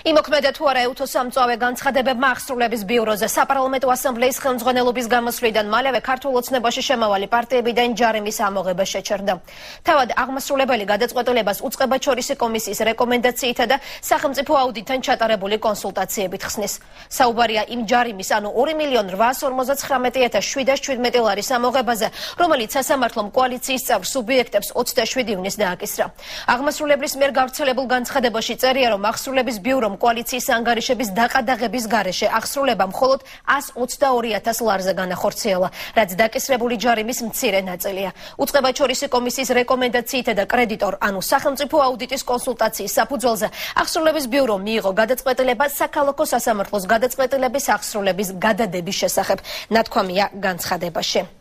იმოქმედა თუ არა ეუთოს სამწვავე განცხადებებმა აღსრულების ბიუროზე საპარლამენტო ასამბლეის ხელმძღვანელობის გამოსვლიდან მალევე ქართულ ოცნებაში შემავალი პარტიებიდან ჯარიმის ამოღება შეჩერდა. თავად აღმასრულებელი გადაწყვეტილებას უწყებაჩორისი კომისიის რეკომენდაციითა და სახელმწიფო აუდიტთან ჩატარებული კონსულტაციებით ხსნის. საუბარია იმ ჯარიმის, ანუ 2.859.717 ლარის ამოღებაზე, რომელიც სასამართლომ კოალიციის წევრ სუბიექტებს 27 ივნისს დააკისრა. აღმასრულებლის მიერ გავრცელებულ განცხადებაში წერია, რომ აღსრულების ბიურომ კოალიციის ანგარიშების დაყადაღების გარეშე აღსრულება მხოლოდ 122.000 ლარზე განახორციელა, რაც დაკისრებული ჯარიმის მცირე ნაწილია. უწყებაჩორისი კომისიის რეკომენდაციითა და კრედიტორ, ანუ სახელმწიფო აუდიტის კონსულტაციის საფუძველზე აღსრულების ბიურომ მიიღო გადაწყვეტილება საქალაქო სასამართლოს გადაწყვეტილების აღსრულების გადადების შესახებ, ნათქვამია განცხადებაში.